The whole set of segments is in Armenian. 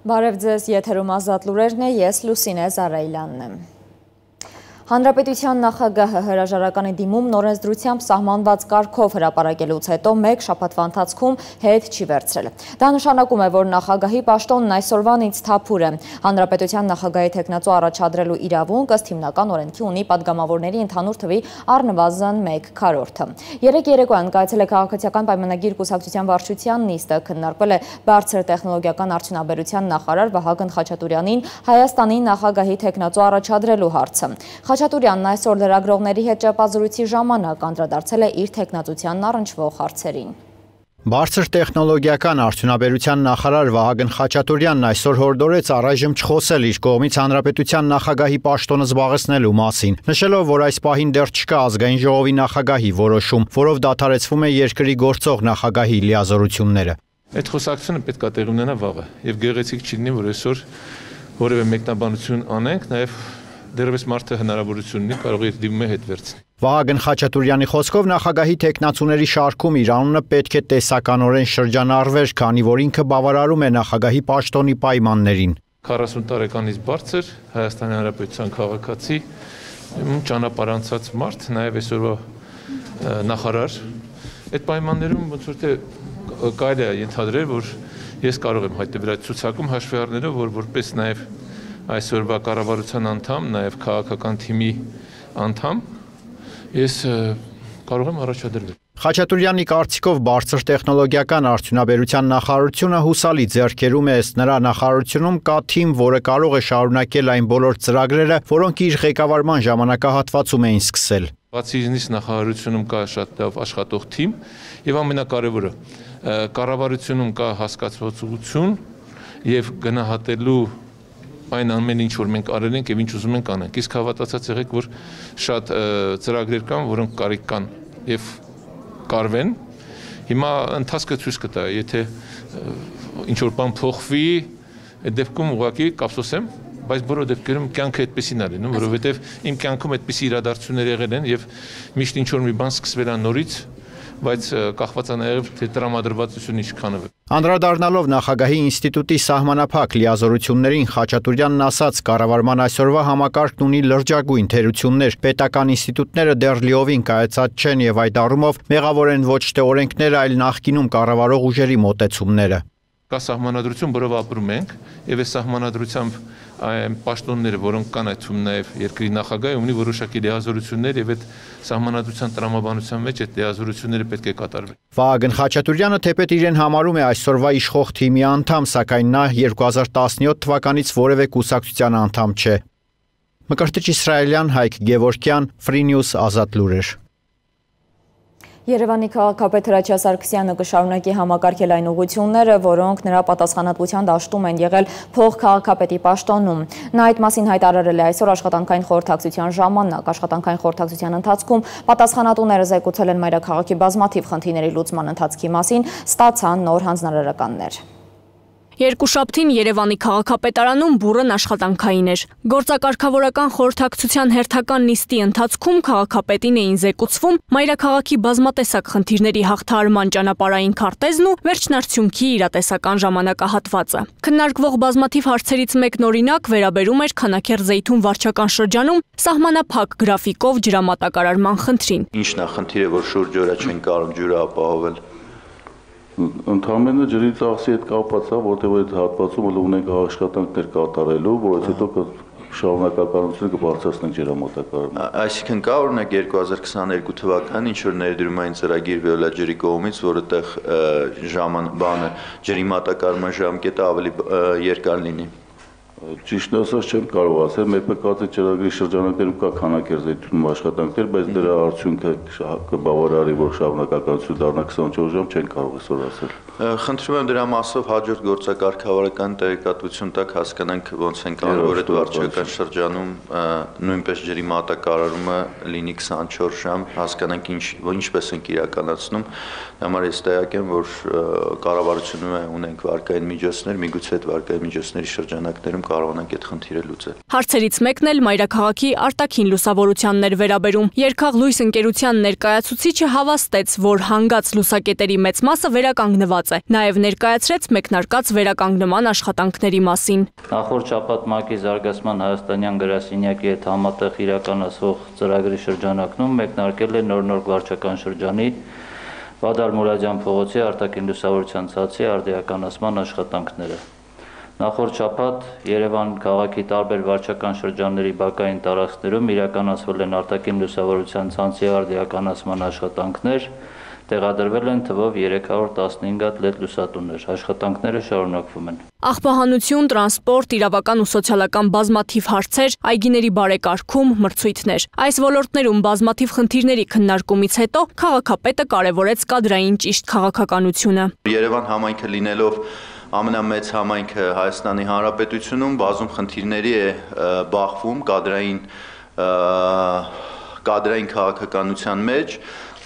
Բարև ձեզ, եթերում ազատ լուրերն է, ես Լուսինե Զարայլյանն եմ։ Հանրապետության նախագահը հրաժարականի դիմում նորենսդրությամբ սահմանված կարգով հրապարակելուց հետո մեկ շաբաթվա ընթացքում հետ չի վերցրել։ Դա նշանակում է, որ նախագահի պաշտոնն այսօրվանից թափուր է։ Հանրապետության նախագահի թեկնածու առաջադրելու իրավունք ըստ հիմնական օրենքի ունի падգամավորների ընդհանուր թվի առնվազն 1/4-ը։ Երեկ երեկոյան կայացել է քաղաքացիական պայմանագիր կուսակցության վարչության նիստը, քննարկվել է բարձր տեխնոլոգիական արդյունաբերության նախարար Վահագն Խաչատուրյանին Հայաստանի նախագահի թեկնածու առաջադրելու հարցը։ Խաչատուրյանն այսօր լրագրողների հետ ճեպազրույցի ժամանակ անդրադարձել է իր թեկնածությանն առնչվող հարցերին։ Բարձր տեխնոլոգիական արդյունաբերության նախարար Վահագն Խաչատուրյանն այսօր հորդորեց առայժմ չխոսել իր կողմից հանրապետության նախագահի պաշտոնը զբաղեցնելու մասին, նշելով, որ այս պահին դեռ չկա ազգային ժողովի նախագահի որոշում, որով դադարեցվում է երկրի գործող նախագահի լիազորությունները։ Այդ խոսակցությունը պետք է տեղի ունենա վաղը, եւ գեղեցիկ չի լինի, որ այսօր որևէ մեկնաբանություն անենք, նաեւ դեռևս մարդը հնարավորություն ունի կարող է դիմում է հետ վերցնել։ Վահագն Խաչատուրյանի խոսքով նախագահի թեկնածուների շարքում իր անունը պետք է տեսականորեն շրջանառվեր, քանի որ ինքը բավարարում է նախագահի պաշտոնի պայմաններին։ 40 տարեկանից բարձր Հայաստանի Հանրապետության քաղաքացի, ճանապարհանցած մարդ, նաև այսօրվա նախարար։ Այդ պայմաններում ոնց որ թե կարելի է ենթադրել, որ ես կարող եմ հայտնվել այդ ցուցակում հաշվի առնելով, որ որպես նաև այսօրվա կառավարության անդամ, նաև քաղաքական թիմի անդամ, ես կարող եմ առաջադրվել։ Խաչատուրյանի կարծիքով բարձր տեխնոլոգիական արդյունաբերության նախարարությունը հուսալի ձեռքերում է, ըստ նրա նախարարությունում կա թիմ, որը կարող է շարունակել այն բոլոր ծրագրերը, որոնք իր ղեկավարման ժամանակահատվածում էին սկսել։ Բացի ինձ նախարարությունում կա շատ լավ աշխատող թիմ, եւ ամենակարևորը կառավարությունում կա հասկացվածություն եւ գնահատելու այն ամեն ինչ որ մենք արել ենք եւ ինչ ուզում ենք անենք։ Իսկ հավատացած եղեք, որ շատ ծրագրեր կան, որոնք կարիք կան եւ կարվեն։ Հիմա ընթացքը ցույց կտա, եթե ինչ որ բան փոխվի, այդ դեպքում ուղղակի կապսոսեմ, բայց բոլոր դեպքերում կյանքը այդպեսին է լինում, որովհետեւ իմ կյանքում այդպիսի իրադարձություններ եղել են եւ միշտ ինչ որ մի բան սկսվել է նորից, բայց կախված է նաև թե տրամադրվածությունը ինչքան է։ Անդրադառնալով նախագահի ինստիտուտի սահմանափակ լիազորություններին, Խաչատուրյանն ասաց, կառավարման այսօրվա համակարգն ունի լրջագույն թերություններ, պետական ինստիտուտները դեռ լիովին կայացած չեն եւ այդ առումով մեղավոր են ոչ թե օրենքները, այլ նախկինում կառավարող ուժերի մոտեցումները։ Կա սահմանադրություն, որով ապրում ենք, եւ այս սահմանադրությամբ այն պաշտոնները, որոնք կան այդում նաև երկրի նախագահը ունի որոշակի լիազորություններ եւ այդ սահմանադրության տրամաբանության մեջ այդ լիազորությունները պետք է կատարվեն։ Վահագն Խաչատուրյանը թեպետ իրեն համարում է այսօրվա իշխող թիմի անդամ, սակայն նա 2017 թվականից որևէ կուսակցության անդամ չէ։ Մկրտիչ Իսրայելյան, Հայկ Գևորգյան, Free News, Ազատ լուրեր։ Երևանի քաղաքապետ Հրաչյա Սարգսյանը կշարունակի համակարգել այն ուղղությունները, որոնք նրա պատասխանատվության դաշտում են եղել փոխքաղաքապետի պաշտոնում։ Նա այդ մասին հայտարարել է այսօր աշխատանքային խորհրդակցության ժամանակ։ Աշխատանքային խորհրդակցության ընթացքում պատասխանատուները զեկուցել են մայրաքաղաքի բազմաթիվ խնդիրների լուծման ընթացքի մասին, ստացան նոր հանձնարարականներ։ Երկուշաբթին Երևանի քաղաքապետարանում բուռն աշխատանքային էր։ Գործակարգավորական խորհրդակցության հերթական նիստի ընթացքում քաղաքապետին էին զեկուցվում մայրաքաղաքի բազմատեսակ խնդիրների հաղթահարման ճանապարհային քարտեզն ու վերջնարդյունքի իրատեսական ժամանակահատվածը։ Քննարկվող բազմաթիվ հարցերից մեկն օրինակ վերաբերում էր Քանաքեռ-Զեյթուն վարչական շրջանում սահմանափակ գրաֆիկով ջրամատակարարման խնդրին։ Ինչն է խնդիրը, որ շուրջօրյա չեն կարող ջուրը ապահովել։ Ընդհանրապես ջրի ծախսի հետ կապված է, որտեղ այդ հատվածում ունենք աշխատանքներ կատարելու, որից հետո շարունակականությունը կբարձրացնենք ջրամատակարարումը։ Այսինքն կա օրինակ 2022 թվականին ինչ որ ներդրումային ծրագիր Վիոլա ջրի կողմից, որտեղ ջրի մատակարարման ժամկետը ավելի երկար լինի։ Ճիշտ ասած չեմ կարող ասել, մեր ՊԿԾ ծրագրի շրջանակներում կա Քանաքեռ-Զեյթունում աշխատանքներ, բայց դրա արդյունքը կբավարարի, որ շարունակականություն դառնա 24 ժամ, չեն կարող այսօր ասել։ Խնդրում եմ դրա մասով հաջորդ գործակարգավարական տեղեկատվություն տակ հասկանանք ոնց են կարող որ այդ վարչական շրջանում նույնպես ջրի մատակարարումը լինի 24 ժամ, հասկանանք ինչպես ենք իրականացնում։ Համար ես տեղյակ եմ, որ կառավարությունում ունենք վարկային միջոցներ, միգուցե այդ վարկային միջոցների շրջանակներում կարողանանք այդ խնդիրը լուծել։ Հարցերից մեկն էլ մայրաքաղաքի արտաքին լուսավորությանն էր վերաբերում։ Երկաղ լույս ընկերության ներկայացուցիչը հավաստեց, որ հանգած լուսակետերի մեծ մասը վերականգնված է։ Նաև ներկայացրեց մեկնարկած վերականգնման աշխատանքների մասին։ Նախորդ շաբաթ ՄԱԿ-ի զարգացման հայաստանյան գրասենյակի հետ համատեղ իրականացվող ծրագրի շրջանակում մեկնարկել է նոր վարչական շրջանի Վադար Մուրադյան փողոցի արտաքին լուսավորության ցածի արդիականացման աշխատանքները։ Նախորդ շաբաթ Երևան քաղաքի տարբեր վարչական շրջանների բակային տարածքներում իրականացվել են արտաքին լուսավորության ցանցի արդիականացման աշխատանքներ, տեղադրվել են թվով 315 հատ LED լուսատուներ։ Աշխատանքները շարունակվում են։ Աղբահանություն, տրանսպորտ, իրավական ու սոցիալական բազմաթիվ հարցեր, այգիների բարեկարգում, մրցույթներ։ Այս ոլորտներում բազմաթիվ խնդիրների քննարկումից հետո քաղաքապետը կարևորեց կադրային ճիշտ քաղաքականությունը։ Երևան համայնքը լինելով ամենամեծ համայնքը Հայաստանի Հանրապետությունում բազում խնդիրների է բախվում կադրային քաղաքականության մեջ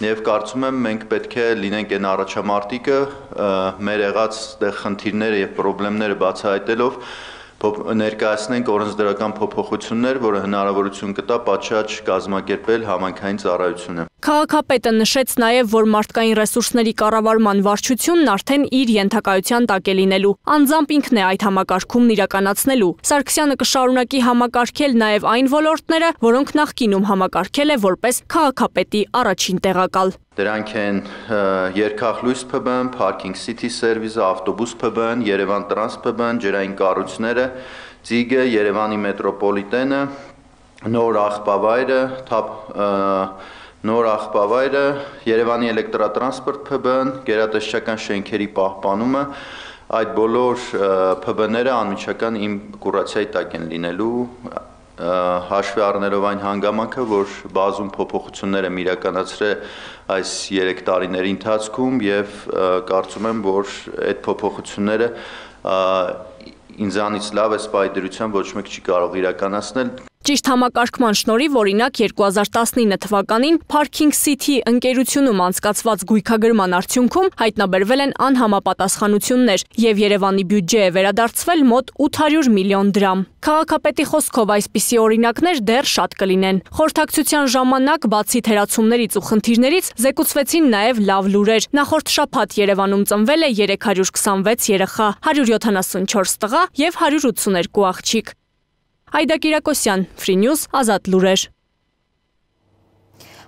եւ կարծում եմ մենք պետք է լինենք այն առաջամարտիկը մեր եղած խնդիրները եւ խնդիրները բացահայտելով ներկայացնենք օրենսդրական փոփոխություններ, որը հնարավորություն կտա պատշաճ կազմակերպել համայնքային ծառայությունը։ Քաղաքապետը նշեց նաև, որ մարդկային ռեսուրսների կառավարման վարչությունն արդեն իր ենթակայության տակ է լինելու։ Անձամբ ինքն է այդ համակարգումն իրականացնելու։ Սարգսյանը կշարունակի համակարգել նաև այն ոլորտները, որոնք նախկինում համակարգել է որպես քաղաքապետի առաջին տեղակալ։ Դրանք են երկախլույս ՓԲ-ն, Parking City Service-ը, ավտոբուս ՓԲ-ն, Երևան Տրանս ՓԲ-ն, ջրային կառույցները, Ձիգը, Երևանի մետրոպոլիտենը, Նոր աղբավայրը, Երևանի էլեկտրատրանսպորտ ՓԲ-ն, գերատեսչական շենքերի պահպանումը, այդ բոլոր ՓԲ-ները անմիջական իմ կուրացիայի տակ են լինելու, հաշվի առնելով այն հանգամանքը, որ բազում փոփոխություններ եմ իրականացրել այս 3 տարիների ընթացքում եւ կարծում եմ, որ այդ փոփոխությունները ինձանից լավ է սպայդրության ոչ մեկ չի կարող իրականացնել։ Ճիշտ համակարգման շնորհիվ օրինակ 2019 թվականին Parking City ընկերությունում անցկացված գույքագրման արդյունքում հայտնաբերվել են անհամապատասխանություններ եւ Երևանի բյուջե է վերադարձվել մոտ 800 միլիոն դրամ։ Քաղաքապետի խոսքով այսպիսի օրինակներ դեռ շատ կլինեն։ Խորհրդակցության ժամանակ բացի թերացումներից ու խնդիրներից զեկուցվեցին նաեւ լավ լուրեր։ Նախորդ շաբաթ Երևանում ծնվել է 326 երեխա, 174 տղա եւ 182 աղջիկ։ Այդա Կիրակոսյան, Free News, Ազատ լուրեր։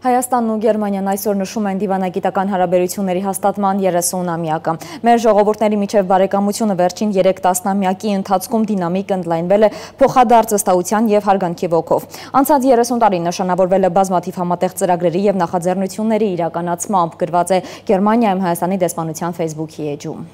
Հայաստանն ու Գերմանիան այսօր նշում են դիվանագիտական հարաբերությունների հաստատման 30-ամյակը։ Մեր ժողովուրդների միջև բարեկամությունը վերջին 3 տասնամյակի ընթացքում դինամիկ ընդլայնվել է փոխադարձ վստահության եւ հարգանքի ոգով։ Անցած 30 տարին նշանավորվել է բազմաթիվ համատեղ ծրագրերի եւ նախաձեռնությունների իրականացմամբ, գրված է Գերմանիայում Հայաստանի դեսպանության Facebook-ի էջում։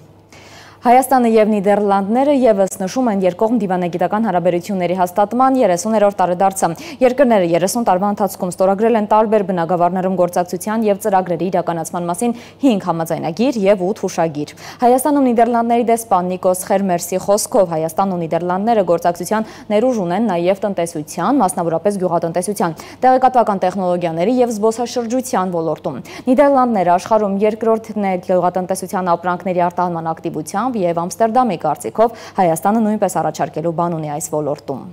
Հայաստանը եւ Նիդերլանդները եւս նշում են երկկողմ դիվանագիտական հարաբերությունների հաստատման 30-րդ տարեդարձը։ Երկրները 30 տարվա ընթացքում ստորագրել են տարբեր բնագավառներում գործակցության եւ ծրագրերի իրականացման մասին 5 համաձայնագիր եւ 8 հուշագիր։ Հայաստանում Նիդերլանդների դեսպան Նիկոս Խերմերսի խոսքով Հայաստանն ու Նիդերլանդները գործակցության ներուժ ունեն նաեւ տնտեսության, մասնավորապես գյուղատնտեսության, տեղեկատվական տեխնոլոգիաների եւ զբոսաշրջության ոլորտում։ Նիդերլանդները աշխարհում երկրորդն է գյուղատնտեսության ապրանքների արտահանման ակտիվությամբ եւ Ամստերդամի կարծիքով Հայաստանը նույնպես առաջարկելու բան ունի այս ոլորտում։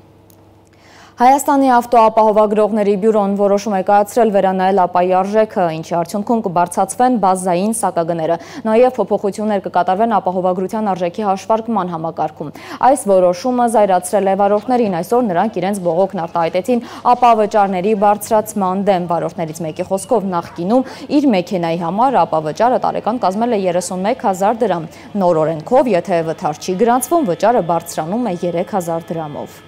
Հայաստանի ավտոապահովագրողների բյուրոն որոշում է կայացրել վերանայել ապայի արժեքը, ինչի արդյունքում կբարձրացվեն բազային սակագները, նաև փոփոխություններ կկատարվեն ապահովագրության արժեքի հաշվարկման համակարգում։ Այս որոշումը զայրացրել է վարորդներին, այսօր նրանք իրենց բողոքն արտահայտեցին ապավճարների բարձրացման դեմ։ Վարորդներից մեկի խոսքով նախկինում իր մեքենայի համար ապավճարը տարեկան կազմել է 31000 դրամ։ Նոր օրենքով, եթե վթար չի գրանցվում, վճարը բարձրանում է 3000 դրամով։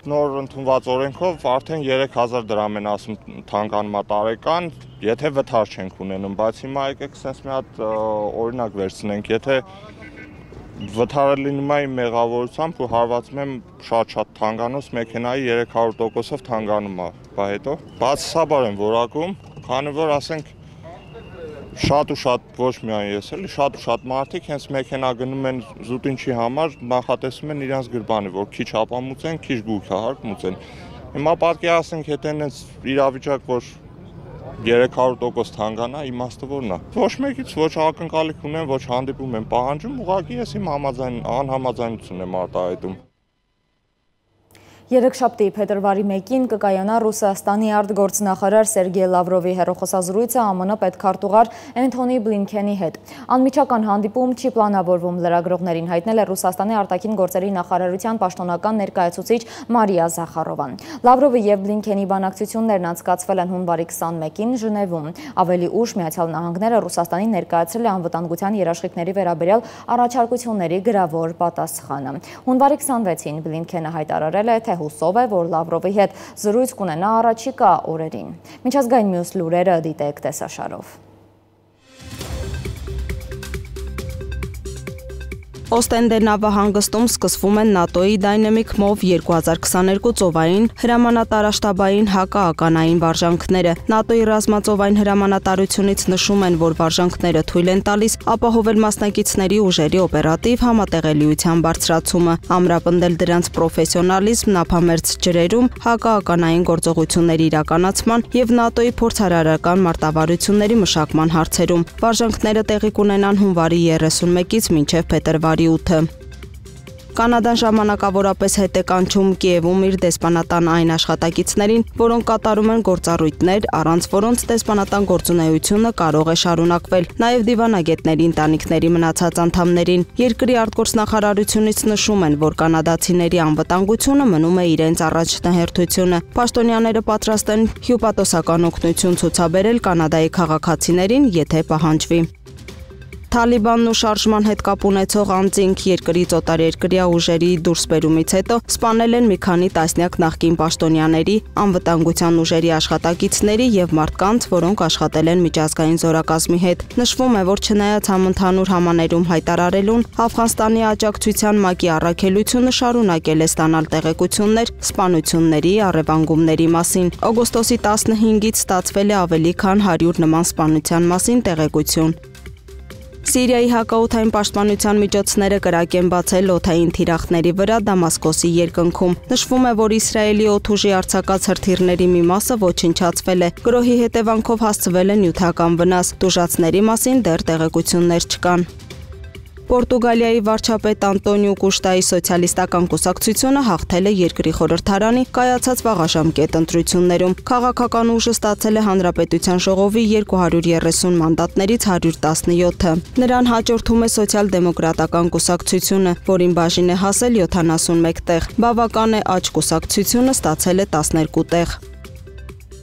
Նոր ընդունված օրենքով արդեն 3000 դրամ են ասում թանկանմա տարեկան, եթե վթար չենք ունենում, բայց հիմա եկեք sense մի հատ օրինակ վերցնենք, եթե վթարը լինում է իմ մեղավորությամբ ու հարվածում եմ շատ թանկանոց մեքենայի 300%-ով թանգանում է, բա հետո բացասաբար են որակում, քանի որ ասենք շատ ու շատ ոչ միայն ես էլի, շատ ու շատ մարդիկ հենց մեքենա գնում են զուտինչի համար, նախատեսում են իրենց գրբանի, որ քիչ ապամուծեն, քիչ գույքահարկ մուծեն։ Հիմա պատկերացնենք, եթե հենց իրավիճակ, որ 300% թանկանա, իմաստը որն է։ Ոչ մեկից ոչ ակնկալիք ունեն, ոչ հանդիպում են պահանջում, ուղղակի ես իմ անհամաձայնություն եմ արտահայտում։ Երեքշաբթի փետրվարի 1-ին կկայանա Ռուսաստանի արտգործնախարար Սերգեյ Լավրովի հեռախոսազրույցը ԱՄՆ պետքարտուղար Էնթոնի Բլինքենի հետ։ Անմիջական հանդիպում չի պլանավորվում, լրագրողներին հայտնել է Ռուսաստանի արտաքին գործերի նախարարության պաշտոնական ներկայացուցիչ Մարիա Զախարովան։ Լավրովի եւ Բլինքենի բանակցություններն անցկացվել են հունվարի 21-ին Ժնևում։ Ավելի ուշ Միացյալ Նահանգները Ռուսաստանին ներկայացրել է անվտանգության երաշխիքների վերաբերյալ առաջարկությունների գրավոր պատասխանը։ Հունվարի 26-ին Բլինքենը հայտարարել է, թե հուսով է, որ Լավրովի հետ զրույց կունենա առաջիկա օրերին։ Միջազգային մյուս լուրերը դիտեք տեսաշարով։ Օստենդե նավահանգստում սկսվում են ՆԱՏՕ-ի Dynamic MOV 2022 ծովային հրամանատարաշտաբային հակաականային վարժանքները։ ՆԱՏՕ-ի ռազմածովային հրամանատարությունից նշում են, որ վարժանքները թույլ են տալիս ապահովել մասնակիցների ուժերի օպերատիվ համատեղելիության բարձրացումը, ամրապնդել դրանց պրոֆեսիոնալիզմն ափամերձ ջրերում հակաականային գործողությունների իրականացման եւ ՆԱՏՕ-ի փորձարարական մարտավարությունների մշակման հարցերում։ Վարժանքները տեղի կունենան հունվարի 31-ից մինչեւ փետրվարի 8-ը։ Կանադան ժամանակավորապես հետ է կանչում Կիևում իր դեսպանատան այն աշխատակիցներին, որոնք կատարում են գործառույթներ, առանց որոնց դեսպանատան գործունեությունը կարող է շարունակվել, նաև դիվանագետների ընտանիքների մնացած անդամներին։ Երկրի արտգործնախարարությունից նշում են, որ կանադացիների անվտանգությունը մնում է իրենց առաջնահերթությունը։ Պաշտոնյաները պատրաստ են հյուպատոսական օգնություն ցուցաբերել Կանադայի քաղաքացիներին, եթե պահանջվի։ Թալիբանն ու շարժման հետ կապ ունեցող անձինք երկրից օտարերկրյա ուժերի դուրսբերումից հետո սպանել են մի քանի տասնյակ նախկին պաշտոնյաների, անվտանգության ուժերի աշխատակիցների եւ մարդկանց, որոնք աշխատել են միջազգային զորակազմի հետ։ Նշվում է, որ չնայած համընդհանուր համաներում հայտարարելուն, Աֆղանստանի աջակցության ՄԱԿ-ի առաքելությունը շարունակել է ստանալ տեղեկություններ սպանությունների, առևանգումների մասին։ Օգոստոսի 15-ից ստացվել է ավելի քան 100 նման սպանության մասին տեղեկություն։ Սիրիայի հակաօդային պաշտպանության միջոցները կրակ են բացել օդային թիրախների վրա Դամասկոսի երկնքում։ Նշվում է, որ Իսրայելի օդուժի արձակած հրթիռների մի մասը ոչնչացվել է։ Գրոհի հետևանքով հասցվել է նյութական վնաս։ Տուժածների մասին դեռ տեղեկություններ չկան։ Պորտուգալիայի վարչապետ Անտոնիո Կուշտայի սոցիալիստական կուսակցությունը հաղթել է երկրի խորհրդարանի կայացած վաղաժամկետ ընտրություններում։ Քաղաքական ուժը ստացել է Հանրապետության ժողովի 230 մանդատներից 117-ը։ Նրան հաջորդում է սոցիալ-դեմոկրատական կուսակցությունը, որին բաժին է հասել 71 տեղ։ Բավական է աջ կուսակցությունը ստացել է 12 տեղ։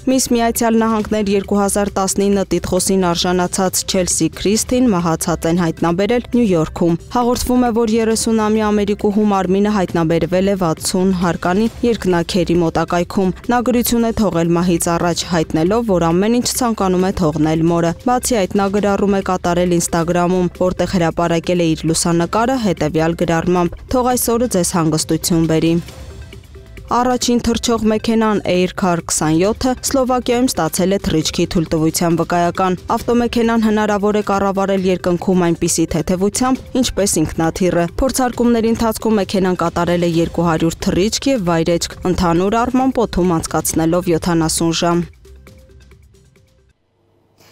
Միս Միացյալ Նահանգներ 2019 տիտղոսին արժանացած Չելսի Քրիստին մահացած են հայտնաբերել Նյու Յորքում։ Հաղորդվում է, որ 30-ամյա ամերիկուհու մարմինը հայտնաբերվել է 60 հարկանի երկնաքերի մոտակայքում։ Նա գրություն է թողել մահից առաջ, հայտնելով, որ ամեն ինչ ցանկանում է թողնել մորը։ Բացի այդ, նա գրառում է կատարել Instagram-ում, որտեղ հրապարակել է իր լուսանկարը հետևյալ գրառմամբ. «Թող այս օրը ձեզ հանգստություն բերի»։ Առաջին թռչող մեքենան Aircar 27-ը Սլովակիայում ստացել է թռիչքի թույլտվության վկայական։ Ավտոմեքենան հնարավոր է կառավարել երկնքում այնպիսի թեթևությամբ, ինչպես ինքնաթիռը։ Փորձարկումների ընթացքում մեքենան կատարել է 200 թռիչք եւ վայրեջք, ընդհանուր առմամբ օդում անցկացնելով 70 ժամ։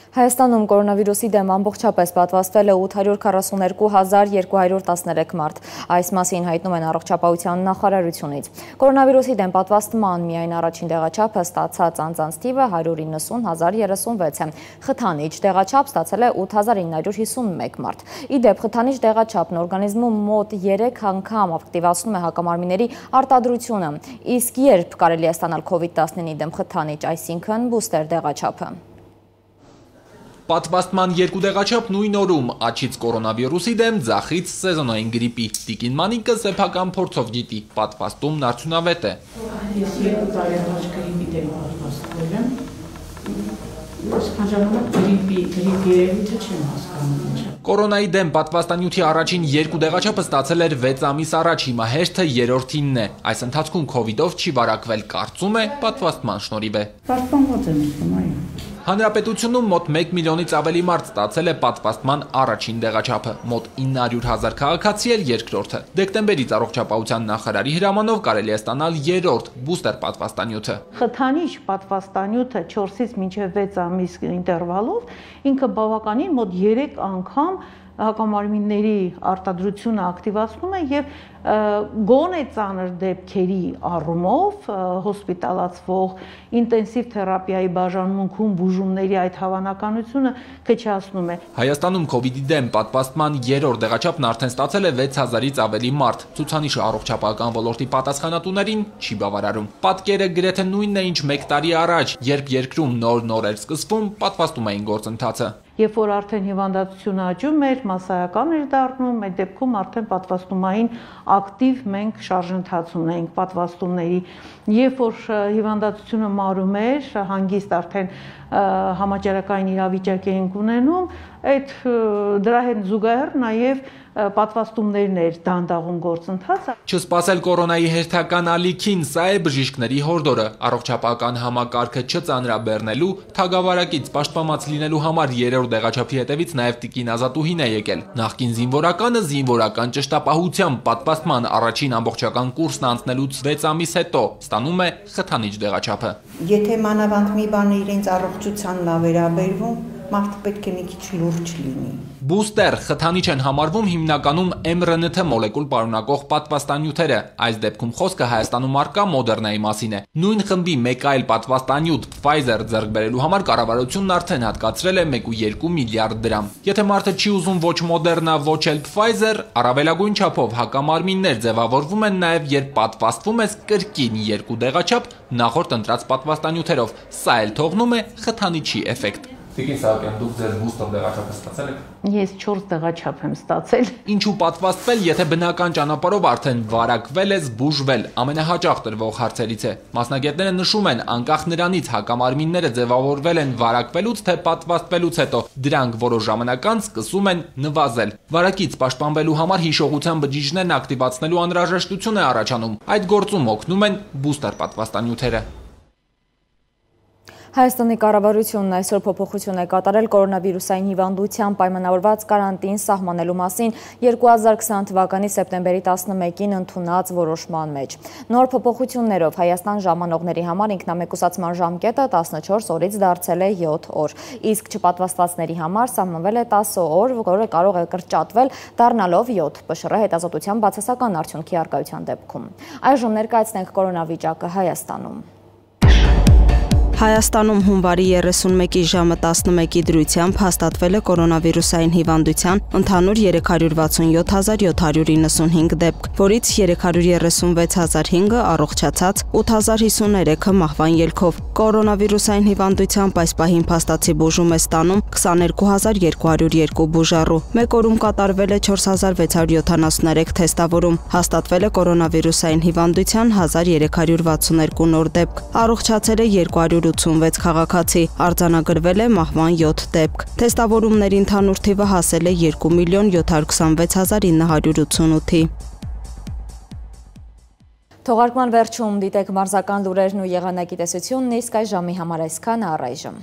Հայաստանում կորոնավիրուսի դեմ ամբողջապես պատվաստվել է 842,213 մարդ։ Այս մասին հայտնում են առողջապահության նախարարությունից։ Կորոնավիրուսի դեմ պատվաստման միայն առաջին տեղաչափը ստացած անձանց թիվը 190,036 է։ Խթանիչ տեղաչափ ստացել է 8,951 մարդ։ Ի դեպ, խթանիչ տեղաչափն օրգանիզմում մոտ 3 անգամ ակտիվացնում է հակամարմինների արտադրությունը։ Իսկ երբ կարելի է ստանալ COVID-19-ի դեմ խթանիչ, այսինքն բուստեր տեղաչափը։ Պատվաստման երկու տեղաչափ նույն օրում, աջից կորոնավիրուսի դեմ, ձախից սեզոնային գրիպի։ Տիկին Մանիկը սեփական փորձով գիտի, պատվաստումն արդյունավետ է։ Ես 2 տարի առաջ գրիպի դեմ պատվաստվել եմ, այսքան ժամանակ գրիպի երևույթը չեմ հասկանում։ Կորոնայի դեմ պատվաստանյութի առաջին երկու տեղաչափը ստացել էր 6 ամիս առաջ, հիմա հերթը երրորդինն է։ Այս ընթացքում քովիդով չի վարակվել, կարծում է, պատվաստման շնորհիվ է։ Պաշտպանված եմ զգում, այո։ Հանրապետությունում մոտ 1 միլիոնից ավելի մարդ ստացել է պատվաստման առաջին տեղաչափը, մոտ 900,000 քաղաքացի էլ երկրորդը։ Դեկտեմբերից առողջապահության նախարարի հրամանով կարելի է ստանալ երրորդ բուստեր պատվաստանյութը։ Խթանիչ պատվաստանյութը 4-ից մինչև 6 ամիս ինտերվալով ինքը բավականին մոտ 3 անգամ հակամարմինների արտադրությունը ակտիվացնում է եւ գոնե ծանր դեպքերի առումով հոսպիտալացվող ինտենսիվ թերապիայի բաժանմունքում բուժումների այդ հավանականությունը քչացնում է։ Հայաստանում COVID-ի դեմ պատվաստման երրորդ դեղաչափն արդեն ստացել է 6000-ից ավելի մարդ։ Ցուցանիշը առողջապահական ոլորտի պատասխանատուներին չի բավարարում։ Պատկերը գրեթե նույնն է, ինչ 1 տարի առաջ, երբ երկրում նոր էր սկսվում պատվաստումային գործընթացը։ Երբ որ արդեն հիվանդացությունը աճում էր, մասսայական էր դառնում, այդ դեպքում արդեն պատվաստումային ակտիվ մենք շարժընթաց ունենք պատվաստումների։ Երբ որ հիվանդացությունը մարում էր, հանգիստ արդեն համաճարակային իրավիճակ էինք ունենում, դրա հետ զուգահեռ նաև պատվաստումներն էր դանդաղում գործընթացը։ Չսպասել կորոնայի հերթական ալիքին, սա է բժիշկների հորդորը, առողջապահական համակարգը չծանրաբեռնելու, թագավարակից պաշտպանված լինելու համար երրորդ դեղաչափի հետևից նաև տիկին Ազատուհին է եկել։ Նախկին զինվորականը զինվորական ճշտապահությամբ պատվաստման առաջին ամբողջական կուրսն անցնելուց 6 ամիս հետո ստանում է խթանիչ դեղաչափը։ Եթե մանավանդ մի բան իրենց առողջությանն է վերաբերվում, մարդը պետք է մի քիչ լուրջ լինի։ Բուստեր խթանիչ են համարվում հիմնականում mRNA մոլեկուլ պարունակող պատվաստանյութերը։ Այս դեպքում խոսքը Հայաստանում առկա Moderna-ի մասին է։ Նույն խմբի մեկ այլ պատվաստանյութ Pfizer ձեռք բերելու համար կառավարությունն արդեն հատկացրել է 1.2 միլիարդ դրամ։ Եթե մարդը չի ուզում ոչ Moderna, ոչ էլ Pfizer, առավելագույն չափով հակամարմիններ ձևավորվում են նաև երբ պատվաստվում ես կրկին 2 դեղաչափ նախորդ ընտրած պատվաստանյութերով։ Սա էլ թողնում է խթանիչի էֆեկտ։ Տիկին Սահակյան, դուք ձեր բուստեր դեղաչափը ստացել եք։ Ես 4 դեղաչափ եմ ստացել։ Ինչու պատվաստվել, եթե բնական ճանապարհով արդեն վարակվել ես, բուժվել, ամենահաճախ տրվող հարցերից է։ Մասնագետները նշում են, անկախ նրանից հակամարմինները ձևավորվել են վարակվելուց թե պատվաստվելուց հետո, դրանք որոշ ժամանակ անց սկսում են նվազել։ Վարակից պաշտպանվելու համար հիշողության բջիջներն ակտիվացնելու անհրաժեշտություն է առաջանում։ Այդ գործում օգնում են բուստեր պատվաստանյութերը։ Հայաստանի կառավարությունն այսօր փոփոխություն է կատարել կորոնավիրուսային հիվանդությամբ պայմանավորված կարանտին սահմանելու մասին 2020 թվականի սեպտեմբերի 11-ին ընդունած որոշման մեջ։ Նոր փոփոխություններով Հայաստան ժամանողների համար ինքնամեկուսացման ժամկետը 14 օրից դարձել է 7 օր, իսկ չպատվաստվածների համար սահմանվել է 10 օր, որը կարող է կրճատվել դառնալով 7, ՊՇՌ հետազոտության բացասական արդյունքի առկայության դեպքում։ Այժմ ներկայացնենք կորոնավիճակը Հայաստանում։ Հայաստանում հունվարի 31-ի ժամը 11-ի դրությամբ հաստատվել է կորոնավիրուսային հիվանդության ընդհանուր 367795 դեպք, որից 336500-ը առողջացած, 8053-ը մահվան ելքով։ Կորոնավիրուսային հիվանդությամբ այս պահին փաստացի բուժում է ստանում 22202 բուժառու։ Մեկ օրում կատարվել է 4673 թեստավորում, հաստատվել է կորոնավիրուսային հիվանդության 1362 նոր դեպք, առողջացել է 286 քաղաքացի, արձանագրվել է մահվան 7 դեպք։ Թեստավորումների ընդհանուր թիվը հասել է 2.726.988-ի։ Թողարկման վերջում դիտեք մարզական լուրերն ու եղանակի տեսությունն, իսկ այս ժամի համար այսքանը առայժմ։